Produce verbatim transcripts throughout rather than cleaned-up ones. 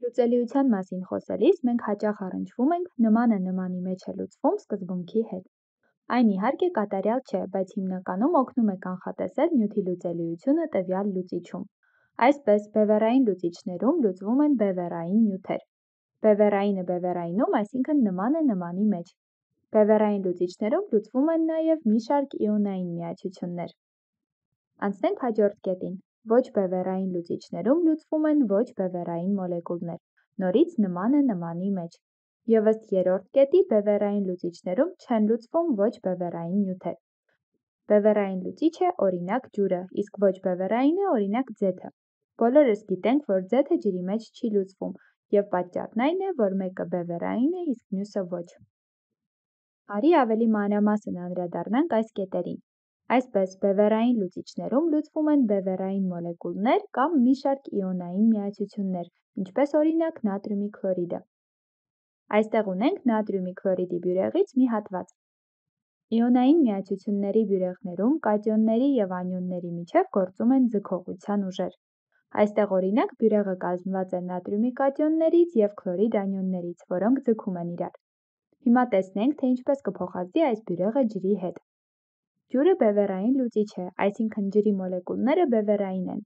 Լուծելիության մասին խոսելիս մենք հաճախ առնչվում ենք նմանը նմանի մեջ է լուծվում սկզբունքի հետ։ Այն իհարկե կատարյալ չէ, բայց հիմնականում օգնում է կանխատեսել նյութի լուծելիությունը տվյալ լուծիչում։ Այսպես, բևեռային լուծիչներում լուծվում են բևեռային նյութեր։ Բևեռայինը բևեռայինում, այսինքն նմանը նմանի մեջ։ Բևեռային լուծիչներում լուծվում են նաև մի շարք իոնային միացություններ։ Անցնենք հաջորդ կետին։ Ոչ բևեռային լուծիչներում լուծվում են ոչ բևեռային մոլեկուլներ, նորից նմանը նմանի մեջ։ Եվ ըստ երրորդ կետի բևեռային լուծիչներում չեն լուծվում ոչ բևեռային նյութեր։ Բևեռային լուծիչ է օրինակ ջուրը, իսկ ոչ բևեռայինը օրինակ ձեթը։ Բոլորս գիտենք, որ ձեթը ջրի մեջ չի լուծվում, և պատճառն այն է, որ մեկը բևեռային է, իսկ մյուսը ոչ։ Արի ավելի մանրամասն անդրադառնանք այս կետերին։ Այսպես, բևեռային լուծիչներում լուծվում են բևեռային մոլեկուլներ կամ մի շարք իոնային միացություններ, ինչպես օրինակ նատրիումի քլորիդը։ Այստեղ ունենք նատրիումի քլորիդի բյուրեղից մի հատված։ Իոնային միացությունների բյուրեղներում կատիոնների և անիոնների միջև գործում են ձգողության ուժեր։ Այստեղ օրինակ բյուրեղը կազմված է նատրիումի կատիոններից և քլորիդ անիոններից, որոնք ձգում են իրար։ Հիմա տեսնենք, թե ինչպես կփոխազդի այս բյուրեղը ջրի հետ։ Ջուրը բևեռային լուծիչ է, այսինքն ջրի մոլեկուլները բևեռային են։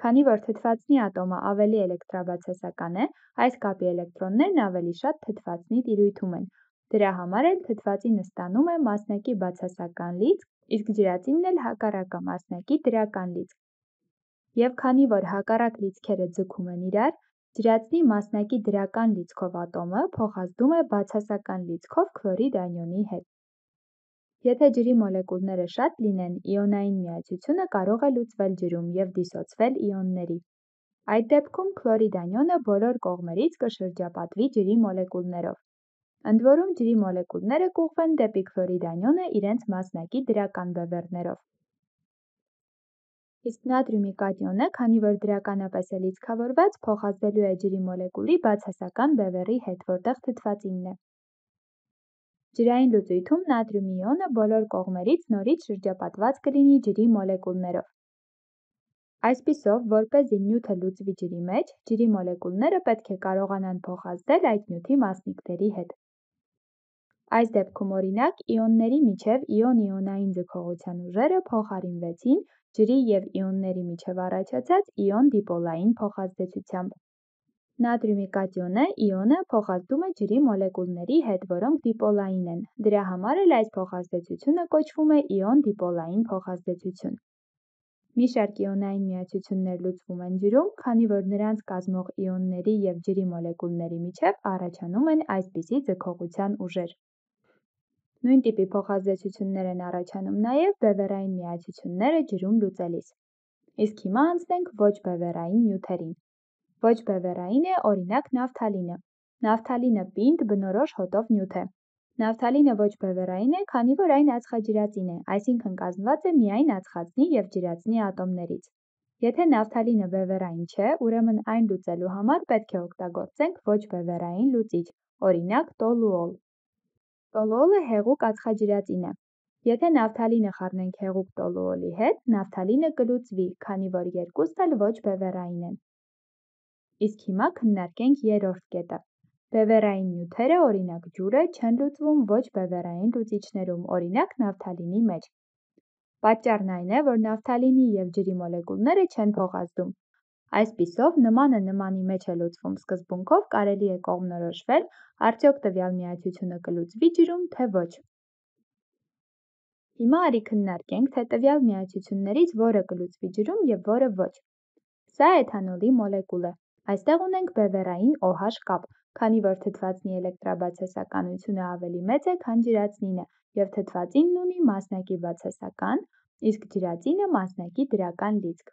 Քանի որ թթվածնի ատոմը ավելի էլեկտրաբացասական է, այս կապի էլեկտրոններն ավելի շատ թթվածնի տիրույթում են։ Դրա համար էլ թթվածինը ստանում է մասնակի բացասական լիցք, իսկ ջրածինն էլ հակառակը մասնակի դրական լիցք։ Եվ քանի որ հակառակ լիցքերը ձգում են իրար, ջրածնի մասնակի դրական լիցքով ատոմը փոխազդում է բացասական լիցքով քլորիդ անիոնի հետ։ Եթե ջրի մոլեկուլները շատ լինեն, իոնային միացությունը կարող է լուծվել ջրում և դիսոցվել իոնների։ Այդ դեպքում քլորիդ անիոնը բոլոր կողմերից կշրջապատվի ջրի մոլեկուլներով։ Ընդ որում ջրի մոլեկուլները կուղղվեն դեպի քլորիդ անիոնը իրենց մասնակի դրական բևեռներով։ Իսկ նատրիումի կատիոնը, քանի որ դրականապես է լիցքավորված, փոխազդելու է ջրի մոլեկուլի բացասական բևեռի հետ, որտեղ թթվածինն է։ Ջրային լուծույթում նատրիումի իոնը բոլոր կողմերից նորից շրջապատված կլինի ջրի մոլեկուլներով։ Այսպիսով, որպեսզի նյութը լուծվի ջրի մեջ, ջրի մոլեկուլները պետք է կարողանան փոխազդել այդ նյութի մասնիկների հետ։ Այս դեպքում օրինակ իոնների միջև իոն-իոնային ձգողության ուժերը փոխարինվեցին ջրի և իոնների միջև առաջացած իոն-դիպոլային փոխազդեցությամբ։ Նատրիումի կատիոնը իոնը փոխազդում է ջրի մոլեկուլների հետ, որոնք դիպոլային են։ Դրա համար էլ այս փոխազդեցությունը կոչվում է իոն-դիպոլային փոխազդեցություն։ Մի շարք իոնային միացություններ լուծվում են ջրում, քանի որ նրանց կազմող իոնների և ջրի մոլեկուլների միջև առաջանում են այսպիսի ձգողության ուժեր։ Նույն տիպի փոխազդեցություններ են առաջանում նաև բևեռային միացությունները ջրում լուծելիս։ Իսկ հիմա անցնենք ոչ բևեռային նյութերին։ Ոչ բևեռային է օրինակ նավթալինը։ Նավթալինը պինդ բնորոշ հոտով նյութ է։ Նավթալինը ոչ բևեռային է, քանի որ այն ածխաջրածին է, այսինքն կազմված է միայն ածխածնի և ջրածնի ատոմներից։ Եթե նավթալինը բևեռային չէ, ուրեմն այն լուծելու համար պետք է օգտագործենք ոչ բևեռային լուծիչ, օրինակ տոլուոլ։ Տոլուոլը հեղուկ ածխաջրածին է։ Եթե նավթալինը խառնենք հեղուկ տոլուոլի հետ, նավթալինը կլուծվի, քանի որ երկուսն էլ ոչ բևեռային են։ Իսկ հիմա քննարկենք երրորդ կետը։ Բևեռային նյութերը, օրինակ ջուրը, չեն լուծվում ոչ բևեռային լուծիչներում, օրինակ նավթալինի մեջ։ Պատճառն այն է, որ նավթալինի և ջրի մոլեկուլները չեն փոխազդում։ Այսպիսով, նմանը նմանի մեջ է լուծվում սկզբունքով կարելի է կողմնորոշվել արդյոք տվյալ միացությունը կլուծվի ջրում, թե ոչ։ Հիմա արի քննարկենք, թե տվյալ միացություններից որը կլուծվի ջրում և որը ոչ։ Սա էթանոլի մոլեկուլ է։ Այստեղ ունենք բևեռային OH կապ, քանի որ թթվածնի էլեկտրաբացասականությունը ավելի մեծ է, քան ջրածնինը, և թթվածինն ունի մասնակի բացասական, իսկ ջրածինը մասնակի դրական լիցք։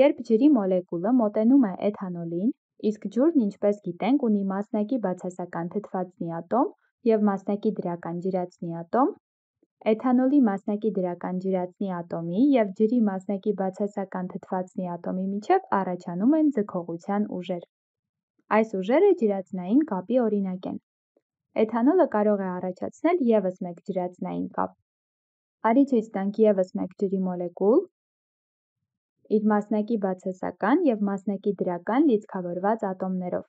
Երբ ջրի մոլեկուլը մոտենում է էթանոլին, իսկ ջուրն, ինչպես գիտենք, ունի մասնակի բացասական թթվածնի ատոմ և մասնակի դրական ջրածնի ատոմ, էթանոլի մասնակի դրական ջրածնի ատոմի և ջրի մասնակի բացասական թթվածնի ատոմի միջև առաջանում են ձգողության ուժեր։ Այս ուժերը ջրածնային կապի օրինակ են։ Էթանոլը կարող է առաջացնել ևս մեկ ջրածնային կապ։ Արի ցույց տանք ևս մեկ ջրի մոլեկուլ։ իր մասնակի բացասական և մասնակի դրական լիցքավորված ատոմներով։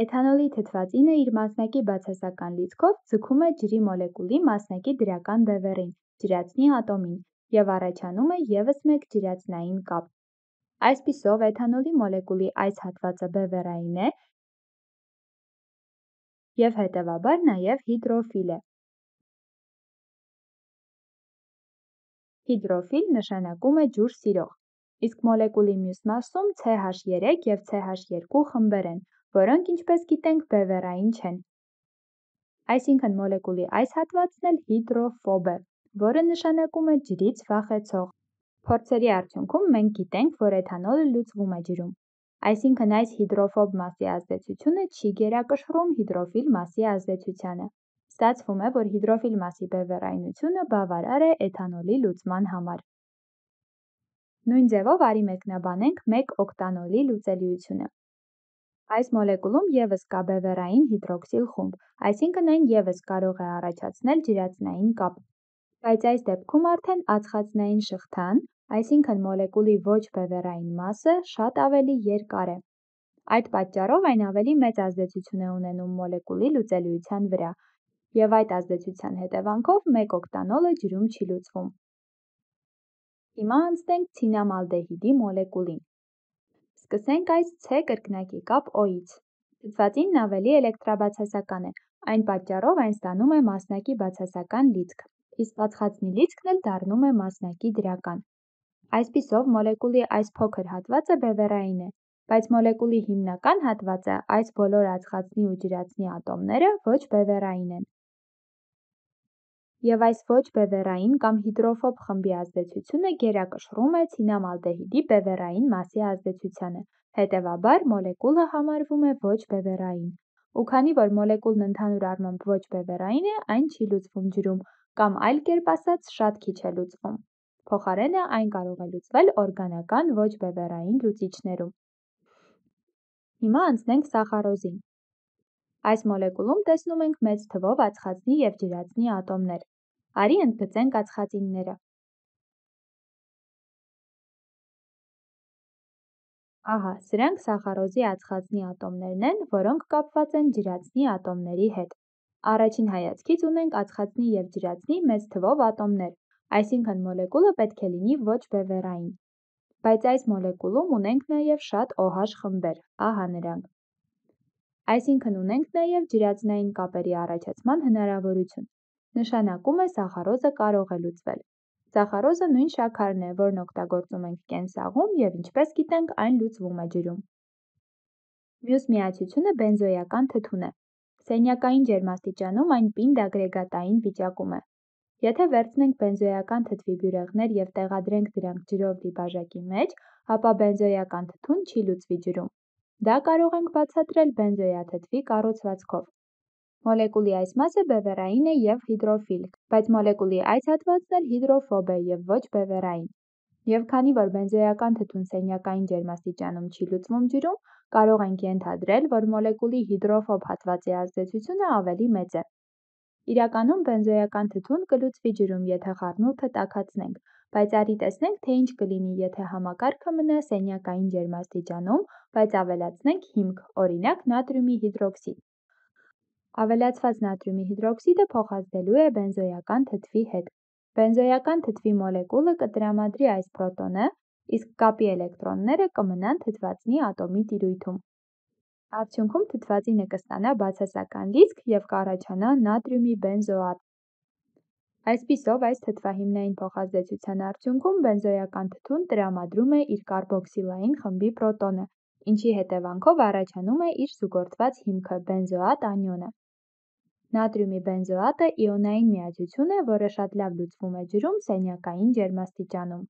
Էթանոլի թթվածինը իր մասնակի բացասական լիցքով ձգում է ջրի մոլեկուլի մասնակի դրական բևեռին, ջրածնի ատոմին, և առաջանում է ևս մեկ ջրածնային կապ։ Այսպիսով, էթանոլի մոլեկուլի այս հատվածը բևեռային է և հետևաբար նաև հիդրոֆիլ է։ Հիդրոֆիլ նշանակում է ջուր սիրող, իսկ մոլեկուլի մյուս մասում C H երեք և C H երկու խմբեր են, որոնք, ինչպես գիտենք, բևեռային չեն։ Այսինքն մոլեկուլի այս հատվածն էլ հիդրոֆոբ է, որը նշանակում է ջրից վախեցող։ Փորձերի արդյունքում մենք գիտենք, որ էթանոլը լուծվում է ջրում։ Այսինքն այս հիդրոֆոբ մասի ազդեցությունը չի գերակշռում հիդրոֆիլ մասի ազդեցությանը։ Ստացվում է, որ հիդրոֆիլ մասի բևեռայնությունը բավարար է էթանոլի լուծման համար։ Նույն ձևով արի մեկնաբանենք մեկ օկտանոլի լուծելիությունը։ Այս մոլեկուլում ևս կա բևեռային հիդրոքսիլ խումբ, այսինքն այն ևս կարող է առաջացնել ջրածնային կապ։ Բայց այս դեպքում արդեն ածխածնային շղթան, այսինքն մոլեկուլի ոչ բևեռային մասը, շատ ավելի երկար է։ Այդ պատճառով այն ավելի մեծ ազդեցություն է ունենում մոլեկուլի լուծելիության վրա, և այդ ազդեցության հետևանքով մեկ օկտանոլը ջրում չի լուծվում։ Հիմա անցնենք ցինամալդեհիդի մոլեկուլին։ Սկսենք այս C կրկնակի կապ O-ից։ Թթվածինն ավելի էլեկտրաբացասական է, այն պատճառով այն ստանում է մասնակի բացասական լիցք, իսկ ածխածնի լիցքն էլ դառնում է մասնակի դրական։ Այսպիսով, մոլեկուլի այս փոքր հատվածը բևեռային է, բայց մոլեկուլի հիմնական հատվածը, այս բոլոր ածխածնի ու ջրածնի ատոմները ոչ բևեռային են։ Եվ այս ոչ բևեռային կամ հիդրոֆոբ խմբի ազդեցությունը գերակշռում է ցինամալդեհիդի բևեռային մասի ազդեցությանը, հետևաբար մոլեկուլը համարվում է ոչ բևեռային։ Ու քանի որ մոլեկուլն ընդհանուր առմամբ ոչ բևեռային է, այն չի լուծվում ջրում, կամ այլ կերպ ասած, շատ քիչ է լուծվում։ Փոխարենը այն կարող է լուծվել օրգանական ոչ բևեռային լուծիչներում։ Հիմա անցնենք սախարոզին։ Այս մոլեկուլում տեսնում ենք մեծ թվով ածխածնի և ջրածնի ատոմներ։ Արի ընդգծենք ածխածինները։ Ահա, սրանք սախարոզի ածխածնի ատոմներն են, որոնք կապված են ջրածնի ատոմների հետ։ Առաջին հայացքից ունենք ածխածնի և ջրածնի մեծ թվով ատոմներ, այսինքն մոլեկուլը պետք է լինի ոչ բևեռային։ Բայց այս մոլեկուլում ունենք նաև շատ OH խմբեր, ահա նրանք։ Այսինքն ունենք նաև ջրածնային կապերի առաջացման հնարավորություն։ Նշանակում է սախարոզը կարող է լուծվել։ Սախարոզը նույն շաքարն է, որն օգտագործում ենք կենսաղում և ինչպես գիտենք, այն լուծվում է ջրում։ Մյուս միացությունը բենզոյական թթուն է։ Սենյակային ջերմաստիճանում այն պինդ ագրեգատային վիճակում է։ Եթե վերցնենք բենզոյական թթվի բյուրեղներ և տեղադրենք դրանք ջրով լի բաժակի մեջ, ապա բենզոյական թթուն չի լուծվի ջրում։ Դա կարող ենք բացատրել բենզոյաթթվի կառուցվածքով։ Մոլեկուլի այս մասը բևեռային է և հիդրոֆիլ, բայց մոլեկուլի այս հատվածն էլ հիդրոֆոբ է և ոչ բևեռային։ Եվ քանի որ բենզոյական թթուն սենյակային ջերմաստիճանում չի լուծվում ջրում, կարող ենք ենթադրել, որ մոլեկուլի հիդրոֆոբ հատվածի ազդեցությունը ավելի մեծ է։ Իրականում բենզոյական թթուն կլուծվի ջրում, եթե խառնուրդը տաքացնենք, բայց արի տեսնենք, թե ինչ կլինի, եթե համակարգը մնա սենյակային ջերմաստիճանում, բայց ավելացնենք հիմք, օրինակ նատրիումի հիդրոքսիդ։ Ավելացված նատրիումի հիդրոքսիդը փոխազդելու է բենզոյական թթվի հետ։ Բենզոյական թթվի մոլեկուլը կտրամադրի այս պրոտոնը, իսկ կապի էլեկտրոնները կմնան թթվածնի ատոմի տիրույթում։ Արդյունքում թթվածինը կստանա բացասական լիցք և կառաջանա նատրիումի բենզոատ։ Այսպիսով, այս թթվահիմնային փոխազդեցության արդյունքում բենզոյական թթուն տրամադրում է իր կարբոքսիլային խմբի պրոտոնը, ինչի հետևանքով առաջանում է իր զուգորդված հիմքը բենզոատ անիոնը։ Նատրիումի բենզոատը իոնային միացություն է, որը շատ լավ լուծվում է ջրում սենյակային ջերմաստիճանում։